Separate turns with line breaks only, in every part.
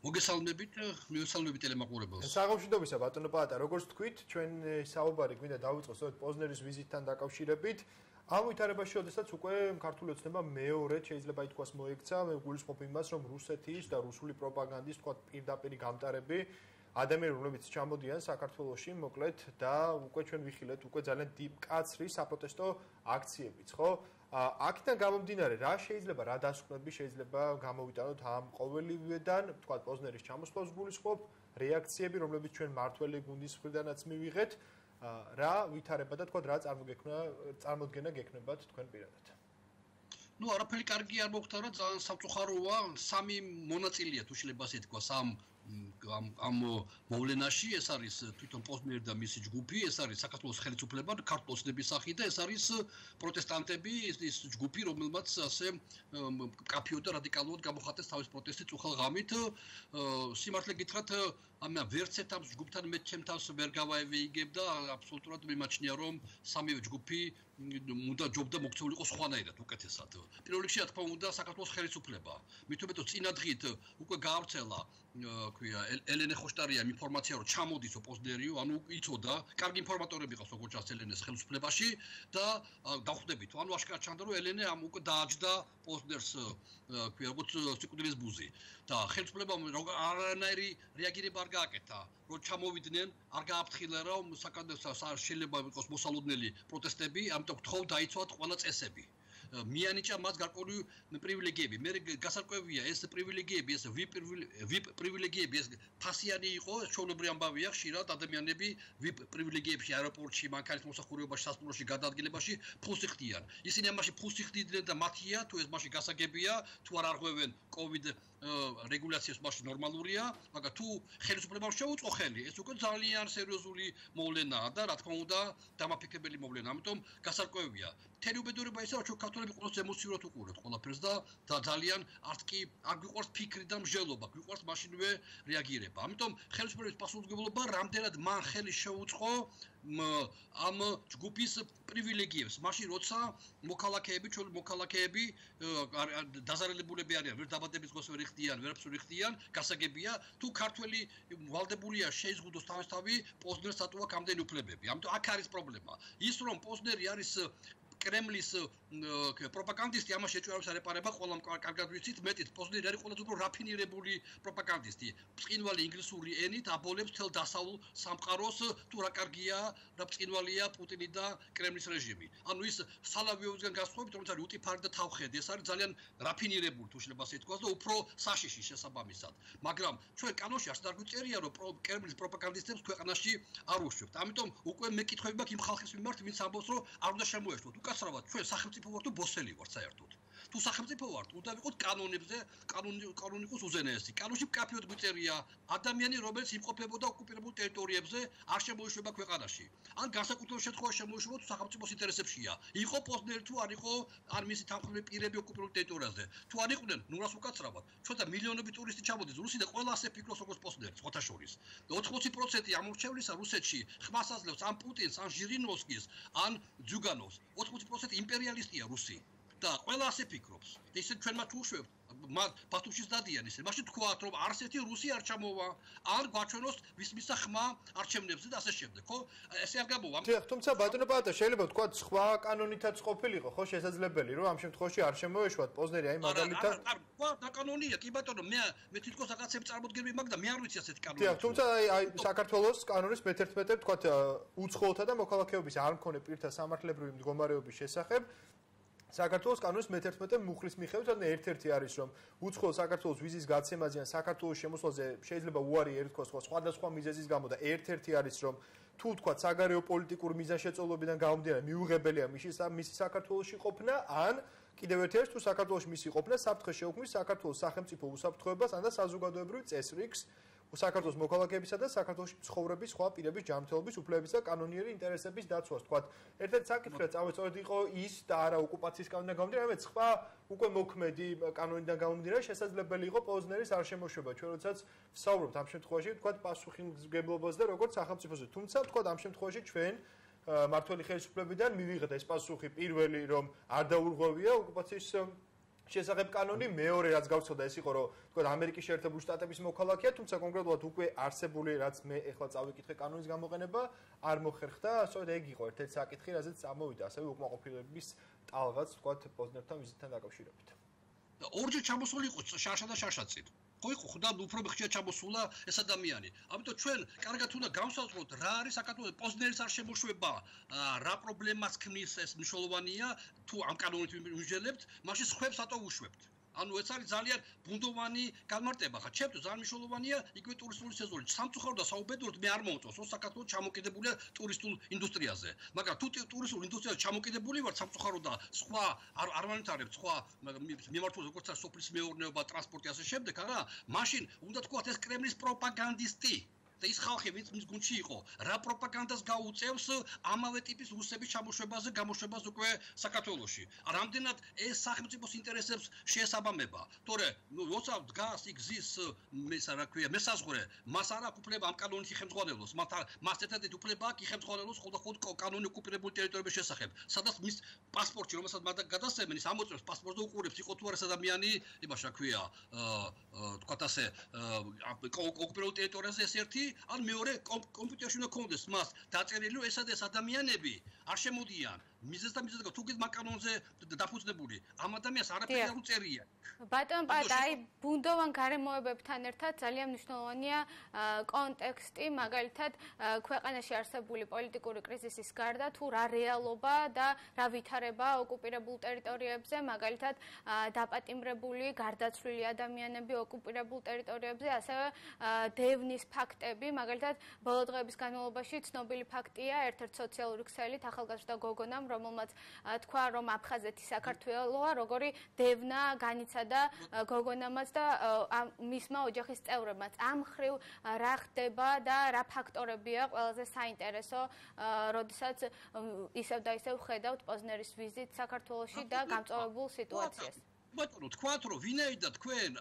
მოგესალმებით, მივესალმებით ტელემაყურებელს.
საღამოშიდობისა ბატონო პაატა, როგორც თქვით, ჩვენ საუბარი გვინდა დავიწყოთ სწორედ პოზნერის ვიზიტთან დაკავშირებით. ამ ვითარებაში, შესაძაც უკვე ქართული ოცნება მეორედ შეიძლება ითქვას მოექცა, მე გულისხმობ იმას, რომ რუსეთის და რუსული პროპაგანდის თქვა პირდაპირი გამტარები ადამიანები, რომლებიც ჩამოდიან საქართველოში, მოკლედ და უკვე ჩვენ ვიხილეთ უკვე ძალიან მკაცრი საპროტესტო აქციებიც, ხო? აქედან გამომდინარე, რა შეიძლება, რა დასკვნები შეიძლება გამოვიტანოთ ამ ყოველივედან, თქვა პოზნერის ჩამოსვლას გულისხმობ, რეაქციები, რომლებიც ჩვენ მართველი გუნდის მხრიდანაც მივიღეთ, რა ვითარება და თქვა რა წარმოდგენა გექნებათ თქვენ პირადად.
Ну, არაფერი კარგი არ მოხდა, ძალიან სამწუხაროა, სამი მონაწილეა თუ შეიძლება ასე თქვას ამ მოვლენაში, ეს არის თვითონ პოზნერი და მისი ჯგუფი, ეს არის საქართველოს ხელისუფლება, ქართულ ოცნების სახით და ეს არის პროტესტანტები, ის ჯგუფი, რომელმაც ასე კაფიოდ და რადიკალურად გამოხატეს თავის პროტესტი წუხელ ღამით. სიმართლე გითხრათ, ვერც ერთ ამ ჯგუფთან მე ჩემ თავს ვერ გავაევიიგებდა, აბსოლუტურად მიმაჩნია, რომ სამივე ჯგუფი უნდა ჯობდა მოქცეულიყო სხვანაირად უკეთესად. პირველ რიგში, რა თქმა უნდა, საქართველოს ხელისუფლება. მით უმეტეს წინა დღით უკვე გაავრცელა ელენე ხოშტარიამ ინფორმაცია, რომ ჩამოდის პოზნერიო, ანუ იცოდა, კარგი ინფორმატორები ყავს როგორც ჩანს ელენეს ხელისუფლებაში და დახვდებით, ანუ აშკარად ჩანდა, რომ ელენე ამ უკვე დააჯდა პოზნერს, როგორც სიკვდილის ბუზი და ხელისუფლებამ არანაირი რეაგირება არ გააკეთა, რომ ჩამოვიდნენ, არ გააფრთხილა, რომ შეიძლება იყოს მოსალოდნელი პროტესტები, ამიტომ გთხოვ დაიცვათ ყველა წესები. მიანიჭა მას გარკვეული პრივილეგიები. მე გასარკვევია ეს პრივილეგიები, ეს VIP პრივილეგიები, ეს ფასიანი იყო, ჩვეულებრივი ამბავია, ხშირად ადამიანები VIP პრივილეგიებში, აეროპორტში, მანქანის მოსახურებაში, სასტუმროში, გადაადგილებაში ფულს იხდიან. ისინი ამაში ფულს იხდიდნენ და მათია, თუ ეს მაშინ გასაგებია, თუ არ არღვევენ COVID რეგულაციას, მაშინ ნორმალურია, მაგრამ თუ ხელისუფლებამ შეუწყო ხელი, ეს უკვე ძალიან სერიოზული მოვლენაა და რა თქმა უნდა, დამაფიქრებელი მოვლენა. ამიტომ გასარკვევია. მთელი უბედურება ისაა, რომ ქართველები ყოველთვის ემოციურად უყურებთ ყველაფერს და ძალიან არც კი არ გვიყვარს ფიქრი და მსჯელობა, გვიყვარს მაშინვე რეაგირება. ამიტომ ხელისუფლების პასუხისმგებლობა რამდენად მან ხელი შეუწყო ამ ჯგუფის პრივილეგიებს. მაშინ როცა ჩვენი მოქალაქეები დაზარალებულები არიან, ვერ დაბადების დღეს ვერ იხდიან, ვერაფერს ვერ იხდიან, გასაგებია, თუ ქართველი ვალდებულია შეიზღუდოს თავისთავად პოზნერს ატოვა ამდენი უფლებები. ამიტომ აქ არის პრობლემა. ის რომ პოზნერი არის კრემლის პროპაგანდისტი, ამაში ეჭვარებს არეპარება, ყველამ კარგად ვიცით, მეტიც პოზნერი არის ყველაზე უფრო რაფინირებული პროპაგანდისტი. ბრწყინვალე ინგლისური ენით აბოლებს მთელ დასავლურ სამყაროს, თუ რა კარგია, რა ბრწყინვალეა პუტინი და კრემლის რეჟიმი. ანუ ის სალავიოვისგან განსხვავებით, რომელიც არის უტიფარი და თავხედი, ეს არის ძალიან რაფინირებული, თუ შეიძლება ასე ითქვას და უფრო საშიში შესაბამისად. მაგრამ ჩვენ კანონში არც არ გვიწერია, რომ კრემლის პროპაგანდისტებს ქვეყანაში არ უშვებთ. ამიტომ უკვე მეკითხები მაქვს იმ ხალხის მიმართ, ვინც ამბობს, რომ არ უნდა შემოეშვოთ. უკაცრავად ჩვენ სახელმწიფო ვართ თუ ბოსელი ვართ საერთოდ. თუ სახელმწიფო ვართ, უნდა ვიყოთ კანონებზე, კანონი იყოს უზენაესი. კანონში კაფიოდ გვიწერია, ადამიანი, რომელიც იმყოფებოდა ოკუპირებულ ტერიტორიებზე, არ შემოეშვება ქვეყანაში. ან განსაკუთრებულ შემთხვევაში შემოეშვება თუ სახელმწიფოს ინტერესებშია. იყო პოზნერი თუ არ იყო, ან მისი თანხმოვანი პირები ოკუპირებულ ტერიტორიაზე. თუ არ იყვნენ, ნუ რას უკაცრავად. ჩვენთან მილიონობით ტურისტი ჩამოდის რუსი და ყველა ასე ფიქრობს როგორც პოზნერი, სხვათა შორის. 80% ამორჩევლისა რუსეთში ხმას აძლევს ან პუტინს, ან ჟირინოვსკის, ან ძუგანოვს. 80% იმპერიალისტია რუსი და ყველა ასე ფიქრობს. და ისე ჩვენ მათ უშვებთ, ბათუმშიც დადიან ისე. მაშინ თქვათ, რომ არც ერთი რუსი არ ჩამოვა, არ გვაჩვენოს ვის მისცა ხმა არჩევნებზე და ასე შემდეგ, ხო? ესე არ გამოვა.
თუმცა ბატონო პაატა, შეიძლება ვთქვათ, სხვა კანონითაც ყოფილიყო, ხო, შესაძლებელი, რომ ამ შემთხვევაში არ შემოეშვათ პოზნერი, აი მაგალითად.
არა, და კანონია, კი ბატონო, მე თვითონ რაღაცები წარმოდგენები მაქვს და მე არ ვიცი ასეთი კანონი.
თუმცა აი საქართველოს კანონის მე-11 ვთქვათ, უცხოელთა და მოქალაქეობის არ მქონე პირთა სამართლებრივი მდგომარეობის შესახებ საქართველოს კანონის მე-11 მუხლის მიხედვით, ანუ ერთ-ერთი არის, რომ უცხოელ საქართველოს ვიზის გაცემაზე ან საქართველოს შემოსვლაზე შეიძლება უარი ერთხოს სხვადასხვა მიზეზის გამო და ერთ-ერთი არის, რომ თუ თქვათ საგარეო პოლიტიკური მიზანშეწონებიდან გამომდინარე მიუღებელია მისი საქართველოში ყოფნა, ან კიდევ ერთი არის, თუ საქართველოში მისი ყოფნა საფრთხეს შეუქმნის საქართველოს სახელმწიფო უსაფრთხოებას ან და საზოგადოებრივ წესრიგს საქართველოს მოქალაქეებისა და საქართველოში ცხოვრების სხვა პირების ჯანმრთელობის უფლებების და კანონიერი ინტერესების დაცვას. თქვათ, ერთ-ერთი საკითხი წავეწოდეთ იყო ის და არა ოკუპაციის კანონიდან გამომდინარე, მაგრამ სხვა უკვე მოქმედი კანონიდან გამომდინარე შესაძლებელი იყო პოზნერის არ შემოშვება. ჩვენ როდესაც ვსაუბრობთ ამ შემთხვევაში, თქვათ, პასუხისმგებლობაზე და როგორც სახელმწიფოზე. თუმცა, თქვათ, ამ შემთხვევაში ჩვენ მართველი ხელისუფლებიდან მივიღეთ ეს პასუხი პირველი, რომ არ დაურღვევია ოკუპაციის შესახებ კანონი, მეორე რაც გავცოდა ეს იყო, რომ თქვა ამერიკის შეერთებული შტატების მოქალაქეა, თუმცა კონკრეტულად უკვე არსებული რაც მე ეხლა წავიკითხე კანონის გამოყენება არ მოხერხდა, სწორედ ეგ იყო ერთ-ერთი საკითხი, რაზეც წამოვიდა ასევე უკმაყოფილების ტალღაც, თქვა პოზნერთან ვიზიტთან დაკავშირებით.
ორჯერ ჩამოსული იყო შაშა და შაშაწინ. ხო იყო ხოდა უფრო ხშირად ჩამოსულა ეს ადამიანი. ამიტომ ჩვენ კარგად უნდა გავსაზღვროთ რა არის საქართველოს პოზნერის არ შემოშვება, რა პრობლემას ქმნის ეს მნიშვნელოვანია, თუ ამ კანონით ვიმსჯელებთ, მაშინ სხვებს ატო უშვებთ. ანუ ეს არის ძალიან ბუნდოვანი განმარტება. ხა ჩემთვის ძალიან მნიშვნელოვანია იგივე ტურისტული სეზონი. სამწუხაროდ და საუბედუროდ მე არ მომწონს, რომ საქართველოს ჩამოკიდებულია ტურისტულ ინდუსტრიაზე. მაგრამ თუ ტურისტულ ინდუსტრიაზე ჩამოკიდებული ვარ, სამწუხაროდ და სხვა არ ვანვითარებ სხვა მიმართულებას, როგორც არის სოფლის მეურნეობა, ტრანსპორტი ასე შემდეგ, არა? მაშინ უნდა თქვათ ეს კრემლის პროპაგანდისტი. და ის ხალხი ვინც მის გუნდში იყო, რა პროპაგანდას გაუწევს ამავე ტიპის რუსების ჩამოშვებაზე, გამოშვებას უკვე საქართველოში. რამდენად ეს სახელმწიფოს ინტერესებს შეესაბამება. თორე, როცა დგას იქ გზის მესაზღვრე, მას არ აქვს უფლება ამ კანონით იხელმძღვანელოს. მას ერთადერთი უფლება აქვს იხელმძღვანელოს ხოლმე კანონი ოკუპირებული ტერიტორიების შესახებ. სადაც მის პასპორტში, რომელსაც მათ გადასცემენ, ის ამოწევს პასპორტს და უყურებს, იყო თუ არა ეს ადამიანი, იმაში რა ქვია, თქვათ ასე, ოკუპირებულ ტერიტორიაზე ეს ერთი ან მეორე კომპიუტერში უნდა კონდეს მას დაწერილი რომ ესა და ეს ადამიანები არ შემოდიან მიზეზ და თუ გიდ კანონზე დაფუძნებული ამ ადამიანს არაფერი არ უწერია.
ბატონ პატა, აი ბუნდოვან გარემოებებთან ერთად ძალიან მნიშვნელოვანია კონტექსტი, მაგალითად ქვეყანაში არსებული პოლიტიკური კრიზისის გარდა თუ რა რეალობა და რა ვითარება ოკუპირებულ ტერიტორიებზე, მაგალითად დაპატიმრებული, გარდაცვლილი ადამიანები ოკუპირებულ ტერიტორიებზე, ასევე დევნის ფაქტები, მაგალითად ბოლო დღეების განმავლობაში ცნობილი ფაქტია ერთ-ერთ სოციალური ქსელით ახალგაზრდა გოგონამ, რომელმაც თქვა, რომ აფხაზეთი საქართველოა, როგორი დევნა განიცადა გოგონამაც და მისმა ოჯახის წევრებმაც. ამ ხრივ რა ხდება და რა ფაქტორებია ყველაზე საინტერესო, როდესაც ისევ და ისევ ხედავთ პოზნერის ვიზიტ საქართველოში და გამწვავებულ სიტუაციას.
ბატონო, თქვათ, რომ ვინაიდან თქვენ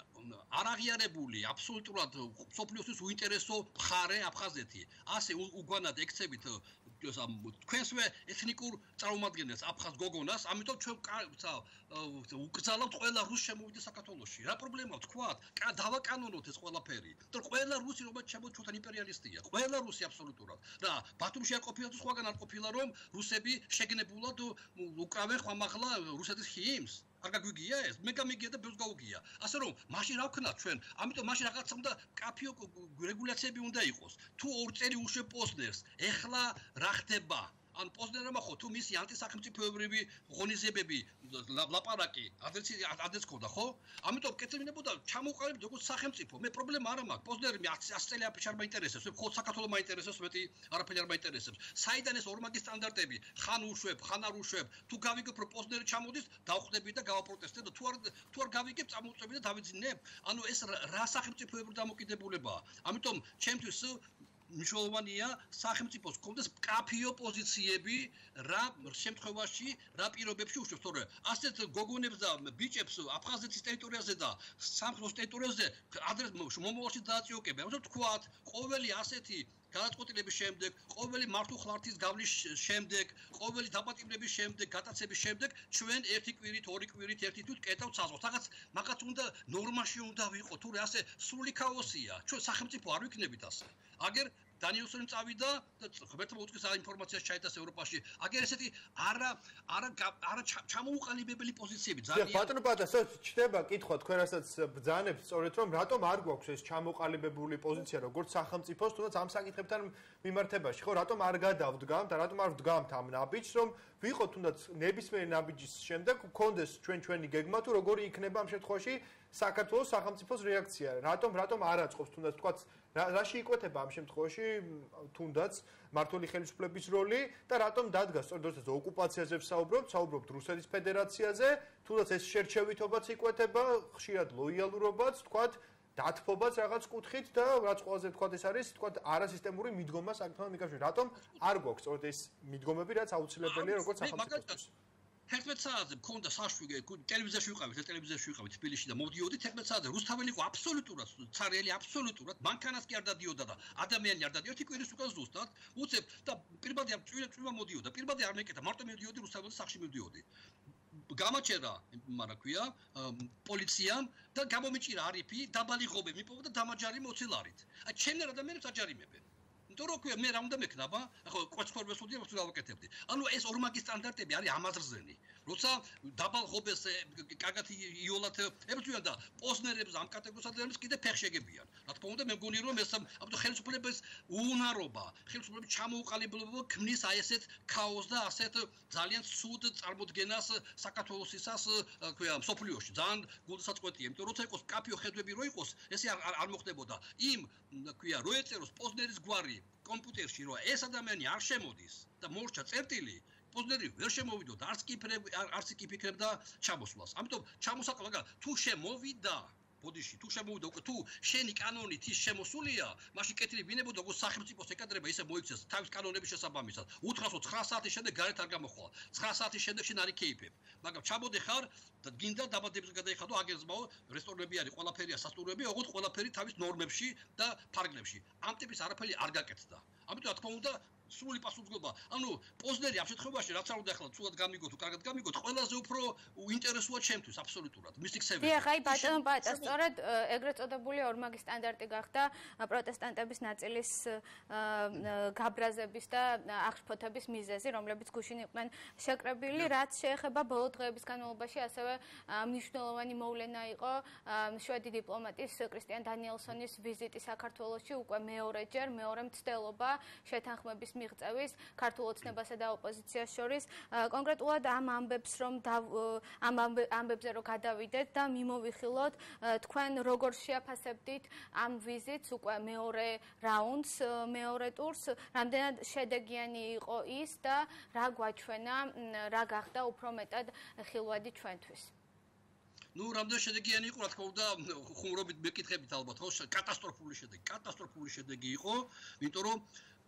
არ აღიარებული აბსოლუტურად სოფლიოსთვის უინტერესო მხარე აფხაზეთი, ასე უგვანად ექცებით თქვენსვე ეთნიკურ წარმომადგენელს აფხაზ გოგონას, ამიტომ ჩვენ უკრძალავთ ყველა რუს შემოვიდეს საქართველოში. რა პრობლემაა თქვათ? დავაკანონოთ ეს ყველაფერი. და ყველა რუსი რომელიც შემოვიდა ჩვენთან იმპერიალისტია. ყველა რუსი აბსოლუტურად. და ბათუმში არ ყოფილა თუ სხვაგან არ ყოფილა რომ რუსები შეგნებულად უკრავენ ხმამაღლა რუსეთის ჰიმნს. არ გაგვიგია ეს? მე გამიგია და ბევრს გაუგია. ასე რომ, მაშინ რა ვქნათ ჩვენ? ამიტომ მაშინ რაღაცა უნდა კაფიო რეგულაციები უნდა იყოს. თუ ორწერი უშვებ პოზნერს, ეხლა რა ხდება? ან პოზნერმა ხო თუ მისი ანტისახელმწიფოებრივი ღონისძიებები ლაპარაკი ადრეც ქონდა, ხო? ამიტომ კეთებინებოდა ჩამოყალიბდა როგორც სახელმწიფო. მე პრობლემა არ მაქვს. პოზნერი 100 წელი არ მაინტერესებს, ხო საქართველოს მაინტერესებს, მეტი არაფერი არ მაინტერესებს. საიდან ეს ორმაგი სტანდარტები? ხან უშვებ, ხან არ უშვებ. თუ გავიგებ რომ პოზნერი ჩამოდის, დავხვდები და გავაპროტესტებ და თუ არ გავიგებ, წამოვწევი და დავიძინებ. ანუ ეს რა სახელმწიფოებრივი დამოკიდებულებაა. ამიტომ ჩემთვის მნიშვნელოვანია სახელმწიფოს კონდეს კაფიო პოზიციები რა შემთხვევაში რა პირობებში უშვებს, თორე ასეთ გოგონებს და ბიჭებს აფხაზეთის ტერიტორიაზე და სამხრეთის ტერიტორიაზე ადრეს მომავალში დააწიოკებენ. ამიტომ თქვათ, ყოველი ასეთი გადაწყვეტილების შემდეგ, ყოველი მართულხლართის გავლის შემდეგ, ყოველი დაპატიმრების შემდეგ, გატაცების შემდეგ ჩვენ ერთი კვირით, ორი კვირით, ერთი თვით კეტავთ საზღვარს. მაგაც უნდა ნორმაში უნდა ვიყო, თორე ასე სრული ქაოსია. ჩვენ სახელმწიფო არ ვიქნებით ასე. აგერ დანიელსონი წავიდა და ღმერთმა უწყის ინფორმაციას ჩაიტას ევროპაში. აგერ ესეთი არა ჩამოუყალიბებელი პოზიციები ძალიან.
ბატონო პატასო, ჩდება კითხვა თქვენ რასაც ბრძანებთ, სწორედ რომ რატომ არ გვაქვს ეს ჩამოყალიბებული პოზიცია როგორც სახელმწიფოს, თუნდაც ამ საკითხებთან მიმართებაში, ხო, რატომ არ გადავდგამთ და რატომ არ ვდგამთ ამ ნაბიჯს, რომ ვიყოთ თუნდაც ნებისმიერი ნაბიჯის შემდეგ გქონდეს ჩვენი გეგმა თუ როგორი იქნება ამ შემთხვევაში საქართველოს სახელმწიფოს რეაქცია. რატომ არ აწყობს თუნდაც თქვაც რაში იკვეთება ამ შემთხვევაში თუნდაც მართული ხელისუფლების როლი და რატომ დადგა სწორედ როდესაც ოკუპაციაზე ვსაუბრობთ რუსეთის ფედერაციაზე, თუნდაც ეს შერჩევითობაც იკვეთება, ხშირად ლოიალურობაც, თქვათ დათფობაც რაღაც კუთხით და რაც ყველაზე თქვათ ეს არის თქვათ არასისტემური მიდგომა საკუთარ მიკავშირში. რატომ არ გვაქვს სწორედ ეს მიდგომები, რაც აუცილებელია როგორც სახელმწიფოსთვის?
11 საათზე მქონდა საშვიგე ტელევიზიაში ვიყავით თბილისში და მოვდიოდით 11 საათზე რუსთაველი იყო აბსოლუტურად ცარიელი აბსოლუტურად მანქანას კი არ დადიოდა და ადამიანი არ დადიოდა კვირის უკან ზუსტად უცებ და პირბადე წვიმა მოდიოდა პირბადე არ მეკეთა მარტო მოდიოდი რუსთაველის სახში მოდიოდი გამაჩერა, მაგრამ ქვია, პოლიციამ და გამომიჭირა არიფი, დაბალი ღობე მიპოვა და დამაჯარი მოცილარით. აი ჩემნარ ადამიანებს აჯარიმებენ. იმიტომ რომ ქვია მე რა უნდა მექნაბა, ახლა კვეცხორბეს უდია ვთქვი გავაკეთებდი. ანუ ეს ორმაგი სტანდარტები არის ამაზრზენი. როცა დაბალ ღობეს კარგად იოლად ებრძვიან და პოზნერებს ამ კატეგორიის ადამიანებს კიდე ფეხშეგებიან. რა თქმა უნდა მე მგონი რომ ეს ამიტომ ხელისუფლების უნარობა, ხელისუფლების ჩამოუყალიბება ქმნის აი ესეთ ქაოსს და ასეთ ძალიან ცუდ წარმოდგენას საქართველოსისას ქვია სოფლიოში. ძალიან გულსაწყვეტია, იმიტომ რომ როცა იყოს კაფიო ხედვები რო იყოს, ესე არ მოხდებოდა. იმ ქვია რო ეწეროს პოზნერის გვარი კომპიუტერში რომ ეს ადამიანი არ შემოდის და მორჩა წერტილი პოზნერი ვერ შემოვიდო და არც კი ფიქრებდა ჩამოსვლას. ამიტომ ჩამოსაყლა თუ შემოვიდა ბოდიში თუ შემოვიდა უკვე თუ შენი კანონით ის შემოსულია, მაშინ კეთილი ვინებოდა როგორ სახელმწიფოს ეკადრება ისე მოიქცეს თავის კანონების შესაბამისად. უთხრას 9 საათის შემდეგ გარეთ არ გამოხვალ. 9 საათის შემდეგ შენ არ იქეიფებ. მაგრამ ჩამოდე ხარ და გინდა დაბადების გადაიხადო აგერზმაო რესტორნები არის, ყველაფერია სასტუმროები, ოღონდ ყველაფერი თავის ნორმებში და ფარგლებში. ამ ტიპის არაფერი არ გაკეთდა. ამიტომ რა თქმა უნდა სრული პასუხისმგებლობა. ანუ პოზნერი ამ შემთხვევაში რაც არ უნდა ახლა ცუდად გამიგოთ თუ კარგად გამიგოთ, ყველაზე უფრო ინტერესოა ჩემთვის აბსოლუტურად. მისი ქსელი.
დიახ, აი ბატონო პატა, სწორედ ეგრეთ წოდებული ორმაგი სტანდარტი გახდა პროტესტანტების ნაწილის გაბრაზების და აღშფოთების მიზეზი, რომლებიც გუშინ იყვნენ შეკრებილი, რაც შეეხება ბოლო დღეების განმავლობაში ასევე მნიშვნელოვანი მოვლენა იყო შვედი დიპლომატის კრისტიან დანიელსონის ვიზიტი საქართველოში, უკვე მეორეჯერ, მეორე მცდელობა შეთანხმების მიღწევის ქართულ ოცნებასა და ოპოზიციას შორის. კონკრეტულად ამ ამბებს რომ ამ ამბებზე რომ გადავიდეთ და მიმოვიხილოთ, თქვენ როგორ შეაფასებდით ამ ვიზიტს, უკვე მეორე რაუნდს, მეორე ტურს, რამდენად შედეგიანი იყო ის და რა გვაჩვენა, რა გახდა უფრო მეტად ხილვადი ჩვენთვის?
ნუ რამდენი შედეგიანი იყო, რა თქმა უნდა, ხუმრობით მეკითხებით ალბათ, ხო, კატასტროფული შედეგი იყო, იმიტომ რომ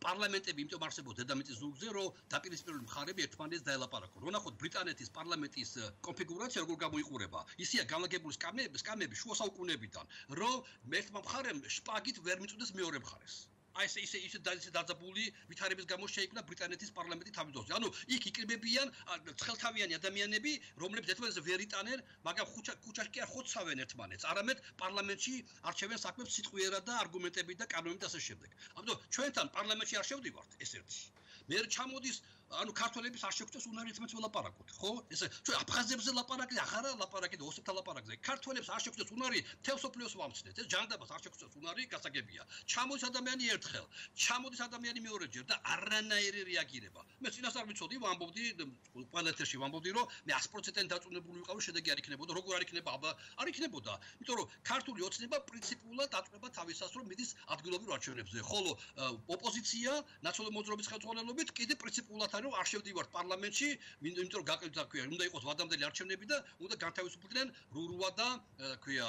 პარლამენტები იმიტომ არსებობს დედამიწის ზურგზე, რომ დაპირისპირებული მხარეები ერთმანეთს დაელაპარაკონ. რო ნახოთ ბრიტანეთის პარლამენტის კონფიგურაცია როგორ გამოიყურება. ისია განლაგებული სკამები შუა საუკუნეებიდან, რომ ერთმა მხარემ შპაგით ვერ მიწვდეს მეორე მხარეს. აი ისე დაძაბული ვითარების გამო შეიქმნა ბრიტანეთის პარლამენტი თავის დროზე. ანუ იქ იკრიბებიან ცხელთავიანი ადამიანები, რომლებიც ერთმანეთს ვერ იტანენ, მაგრამ ქუჩაში კი არ ხოცავენ ერთმანეთს, არამედ პარლამენტში არჩევენ საქმებს სიტყვიერად და არგუმენტებით და კანონით და ასე შემდეგ. ამიტომ ჩვენთან პარლამენტში არ შევდივართ ეს ერთი. მე ჩამოდის ანუ ქართველების არ შეგვწევს უნარი ერთმანეთს ველაპარაკოთ, ხო? ესე ჩვენ აფხაზებზე ლაპარაკი, ახარა ლაპარაკი და ოსებთან ლაპარაკზე. ქართველებს არ შეგვწევს უნარი თელს სოფლიოს ვამცნეთ. ეს ჯანდაბას არ შეგვწევს უნარი, გასაგებია. ჩამოდის ადამიანი ერთხელ, ჩამოდის ადამიანი მეორეჯერ და არანაირი რეაგირება. მე წინასწარ ვიცოდი, ვამბობდი, პალატაში ვამბობდი, რომ მე 100%-იანი დაწუნებული ვიყავი, შედეგი არ იქნებოდა, როგორ არ იქნება, არ იქნებოდა. იმიტომ რომ ქართული ოცნება პრინციპულად აწყვება თავისას, რომ მიდის ადგილობრივ არჩევნებზე. ხოლო ოპოზიცია ნაციონალური მოძრაობის ხელმძღვანელობით კიდე პრინციპულად რომ არ შევდივართ პარლამენტში, იმიტომ რომ გაკეთდა ქვია, უნდა იყოს ვადამდელი არჩევნები და უნდა განთავისუფლდნენ რურუა და ქვია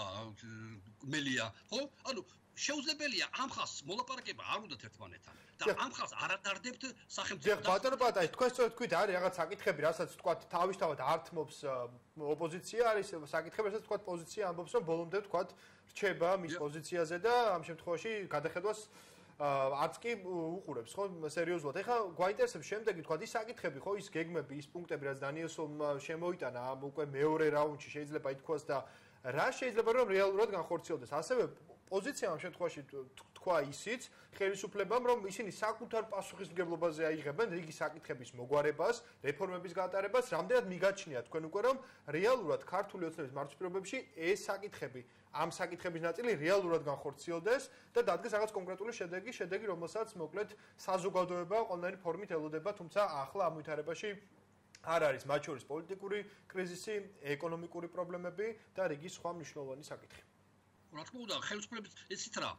მელია, ხო? ანუ შეუძლებელია ამ ხალხს მოლაპარაკება არ უნდათ ერთმანეთთან და ამ ხალხს არ ადარდებთ სახელმწიფო.
ბატონო პატაი, თქვენ სწორედ თქვით, არის რაღაც საკითხები, რასაც თქვა თავისთავად ართმობს ოპოზიცია, არის საკითხები, რასაც თქვა პოზიცია ამბობს, რომ ბოლომდე თქვა რჩება მის პოზიციაზე და ამ შემთხვევაში გადახედვას არც კი უყურებს, ხო, სერიოზულად. ეხლა გვაინტერესებს შემდეგი თქვა ის საკითხები, ხო, ის გეგმები, ის პუნქტები, რაც დანიელსონმა შემოიტანა ამ უკვე მეორე რაუნდში შეიძლება ითქვას და რა შეიძლება რომ რეალურად განხორციელდეს. ასევე პოზიცია ამ შემთხვევაში თქვა ისიც ხელისუფლებამ, რომ ისინი საკუთარ პასუხისმგებლობაზე აიღებენ რიგი საკითხების მოგვარებას, რეფორმების გატარებას, რამდენად მიგაჩნია თქვენ უკვე რომ რეალურად ქართული ოცნების მარცხპირობებში ეს საკითხები ამ საკითხების ნაწილი რეალურად განხორციელდეს და დადგეს რაღაც კონკრეტული შედეგი, რომელსაც მოკლედ საზოგადოება ყველანაირი ფორმით ელოდება, თუმცა ახლა ამ ვითარებაში არ არის მათ შორის პოლიტიკური კრიზისი, ეკონომიკური პრობლემები და რიგი სხვა მნიშვნელოვანი საკითხი.
რა თქმა უნდა, ხელისუფლების ესეთ რა.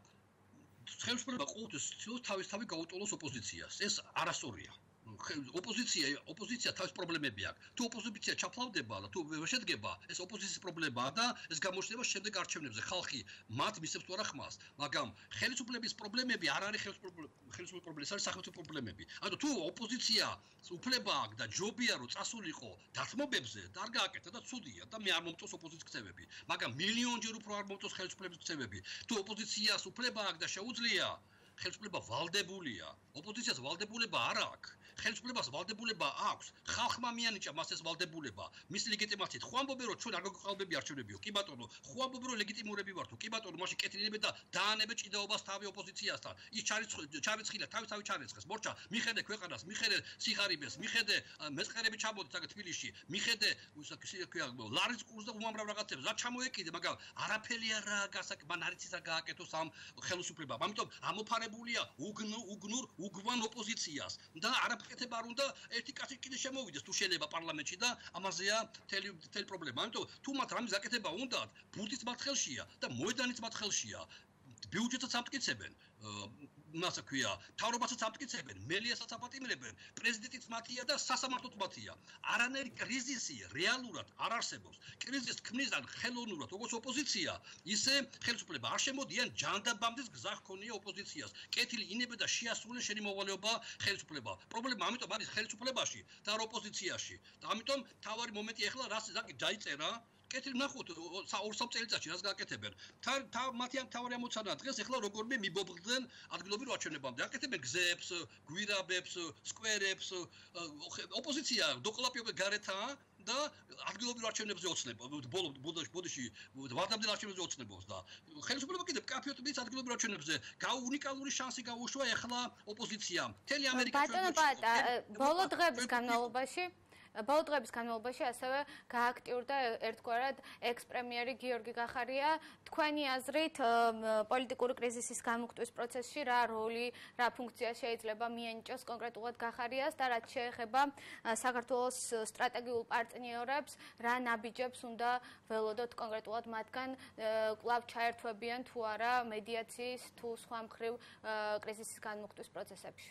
ხელისუფლება ყოველთვის ცდილობს თავისთავად გაუტოლოს ოპოზიციას. ეს არასწორია. ოპოზიცია თავის პრობლემები აქვს. თუ ოპოზიცია ჩაფლავდება და თუ ვერ შედგება, ეს ოპოზიციის პრობლემაა და ეს გამოჩნდება შემდეგ არჩევნებზე. ხალხი მათ მისცემს თუ არა ხმას, მაგრამ ხელისუფლების პრობლემები არ არის ხელისუფლების პრობლემები, ეს არის სახელმწიფო პრობლემები. ანუ თუ ოპოზიცია უფლება აქვს და ჯობია რომ წასულიყო დათმობებზე, და არ გააკეთა და ცუდია და მე არ მომწონს ოპოზიციის ქცევები, მაგრამ მილიონჯერ უფრო არ მომწონს ხელისუფლების ქცევები. თუ ოპოზიციას უფლება აქვს და შეუძლია ხელისუფლება ვალდებულია. ოპოზიციას ვალდებულება არ აქვს. ხელისუფლებას ვალდებულება აქვს. ხალხმა მიანიჭა მას ეს ვალდებულება. მის ლეგიტიმაციით. ხო ამბობენ რომ ჩვენ არ გვეყალბები არჩევნებიო. კი ბატონო, ხო ამბობენ რომ ლეგიტიმურები ვართ. კი ბატონო, მაშინ კეთილინებეთ და დაანებეთ ჭიდაობას თავი ოპოზიციასთან. ის ჩარიცხილა, თავი ჩარეცხეს. მორჩა, მიხედე ქვეყანას, მიხედე სიხარიბეს, მიხედე მეწყერები ჩამოდით აქ თბილისში. მიხედე ლარის კურსს და უამრავ რაღაცებს. რა ჩამოეკიდე, მაგრამ არაფერი არაა გასაკ, მან არ იცის რა გააკეთოს ამ ხელისუფლებამ. ამიტომ ამოფარებულია უგვან ოპოზიციას და არაფერეთებ არ უნდა ერთი კაცი კიდე შემოვიდეს თუ შეიძლება პარლამენტში და ამაზეა მთელი პრობლემა. ამიტომ თუ მათ რამის გაკეთება უნდათ, ბურთიც მათ ხელშია და მოედანიც მათ ხელშია. ბიუჯეტსაც ამტკიცებენ. მასა ქვია, თავრობასაც ამტკიცებენ, მელიასაც აპატიმრებენ, პრეზიდენტიც მათია და სასამართლოც მათია. არანაირი კრიზისი რეალურად არ არსებობს. კრიზისს ქმნის ან ხელოვნურად, როგორც ოპოზიცია, ისე ხელისუფლება არ შემოდიან ჯანდაბამდის გზა ჰქონია ოპოზიციას. კეთილი ინებე და შეასრულე შენი მოვალეობა ხელისუფლება. პრობლემა ამიტომ არის ხელისუფლებაში და არ ოპოზიციაში. და ამიტომ თავარი მომენტი ახლა რას დაიწერა კეთილი ნახოთ 2-3 წელიწადში რას გააკეთებენ. მათი თავარი ამოცანა დღეს ახლა როგორმე მიბობდნენ ადგილობრივ არჩევნებამდე. აკეთებენ გზებს, გვირაბებს, სკვერებს, ოპოზიცია დოკლაპიობე გარეთაა და ადგილობრივ არჩევნებზე ოცნება. ბოდიში ვადამდელ არჩევნებზე ოცნებობს და ხელისუფლება კიდევ კაფეოთ მის ადგილობრივ არჩევნებზე უნიკალური შანსი გაუშვა ახლა ოპოზიციამ. მთელი ამერიკა
ბატონო პატა, ბოლო დღების განმავლობაში ასევე გააქტიურდა ერთგვარად ექს-პრემიერი გიორგი გახარია. თქვენი აზრით, პოლიტიკური კრიზისის გამოხატვის პროცესში რა როლი, რა ფუნქცია შეიძლება მიენიჭოს კონკრეტულად გახარიას და რაც შეეხება საქართველოს სტრატეგიულ პარტნიორებს, რა ნაბიჯებს უნდა ველოდოთ კონკრეტულად მათგან კვლავ ჩაერთვებიან თუ არა მედიაციის თუ სხვა მხრივ კრიზისის გამოხატვის პროცესებში.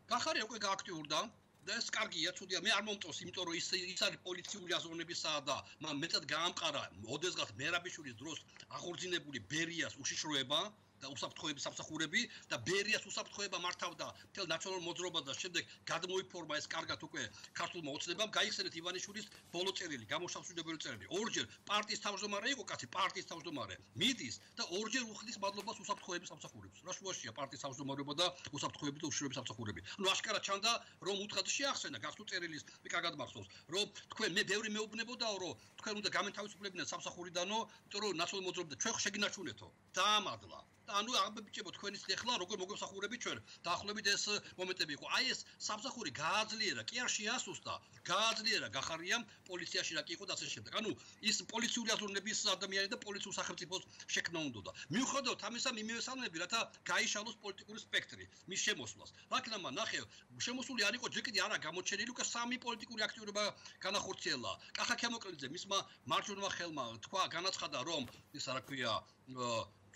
გახარია უკვე გააქტიურდა. და ეს კარგია, ცუდია, მე არ მომწონს, იმიტომ რომ ის არის პოლიციური აზროვნებისა და მეტად გაამყარა ოდესღაც მერაბიშვილის დროს აღორძინებული ბერიას უშიშროება და უსაფრთხოების სამსახურები და ბერიას უსაფრთხოება მართავდა მთელ ნაციონალურ მოძრაობას და შემდეგ გადმოიფორმა ეს კარგად უკვე ქართულმა ოცნებამ. გაიხსენეთ ივანიშვილის ბოლო წერილი, გამოშავსებებელი წერილი. ორჯერ პარტიის თავმჯდომარე იყო კაცი, პარტიის თავმჯდომარე. მიდის და ორჯერ უხდის მადლობას უსაფრთხოების სამსახურებს. რა შუაშია პარტიის თავმჯდომარეობა და უსაფრთხოების და უშიშროების სამსახურები. ანუ აშკარად ჩანდა რომ უთხრა შეახსენა გასულ წერილის კარგად მახსოვს, რომ თქვენ მე ბევრი მეუბნებოდაო, რომ თქვენ უნდა გამენთავისუფლებინათ სამსახურიდანო, იმიტომ რომ ნაციონალურ მოძრაობაზე ჩვენ შეგინაჩუნეთო. დაამადლა. ანუ აღბიჭებო თქვენის ახლა როგორ მოგესახურებით ჩვენ დაახლოებით ეს მომენტები იყო. აი ეს სამსახური გააძლიერა, კი არ შეასუსტა, გააძლიერა გახარიამ პოლიციაში რა კი იყო და ასე შემდეგ. ანუ ის პოლიციური აზროვნების ადამიანი და პოლიციურ სახელმწიფოს შექმნა უნდოდა. მიუხედავად ამისა მიმეოსალმები, რათა გაიშალოს პოლიტიკური სპექტრი მის შემოსვლას. რაკნამა ნახე, შემოსული არ იყო ჯერ კიდე არა გამოჩენილი, უკვე 3 პოლიტიკური აქტიურობა განახორციელა. კახა ქემოკლიძე მისმა მარჯვენა ხელმა თქვა, განაცხადა რომ ის რა ქვია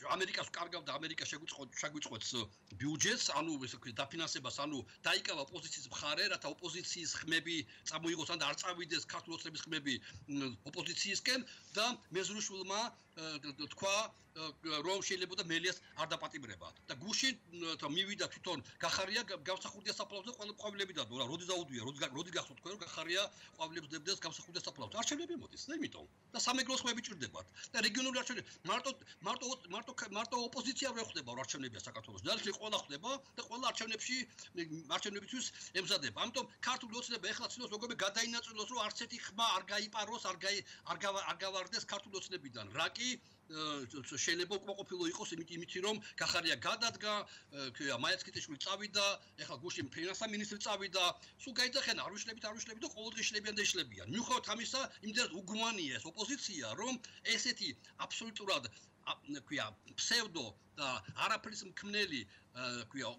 ამერიკას კარგავდა ამერიკა შეგვიწყვეტს ბიუჯეტს, ანუ ესე ვქვი დაფინანსებას, ანუ დაიკავა ოპოზიციის მხარე, რათა ოპოზიციის ხმები წამოიღოს ან არ წავიდეს ქართულ ოცნების ხმები ოპოზიციისკენ და მეზრუშვილმა თქვა რომ შეიძლება და მელიას არ დაპატიმრება და გუშინ მივიდა თვითონ გახარია გამსახურდია საფლავზე ყვავილები დადო რა როდი დაუდვია როდი გახსოვთ თქვენ რომ გახარია ყვავილებს დებდეს გამსახურდია საფლავზე არჩევნები მოდის და იმიტომ და სამეგრელოს ხმები ჭირდებათ და რეგიონული არჩევნები მარტო ოპოზიცია ვერ ხდება არჩევნებია საქართველოს ძალით ყველა ხდება და ყველა არჩევნებისთვის ემზადება ამიტომ ქართული ოცნება ეხლა ცდილობს როგორ გადაინაწილოს რომ არც ერთი ხმა არ გაიპაროს არ გავარდეს ქართული ოცნებიდან რა კი შეიძლება უკმაყოფილო იყოს იმით რომ გახარია გადადგა მაიაცკიტიშვილი წავიდა ეხლა გუშინ ფინანსთა მინისტრი წავიდა სულ გაიძახენ არ ვიშლებით და ყოველდღე შლებიან და იშლებიან მიუხედავად ამისა იმდენად უგმანია ეს ოპოზიცია რომ ესეთი აბსოლუტურად ქვია ფსევდო და არაფრის მქმნელი ქვია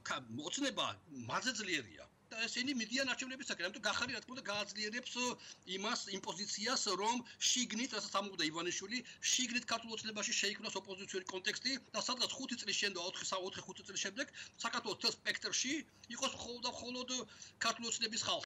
ოცნება მაზეძლიერია და ესენი მიდიან არჩევნებისაკენ, ამიტომ გახარი რა თქმა უნდა გააძლიერებს იმ პოზიციას, რომ შიგნით, რასაც ამბობდა ივანიშვილი, შიგნით ქართულ ოცნებაში შეიქმნას ოპოზიციური კონტექსტი და სადღაც 5 წლის შემდეგ, 4-5 წლის შემდეგ საქართველოს თელ სპექტრში იყოს მხოლოდ ქართულ ოცნების ხალხი.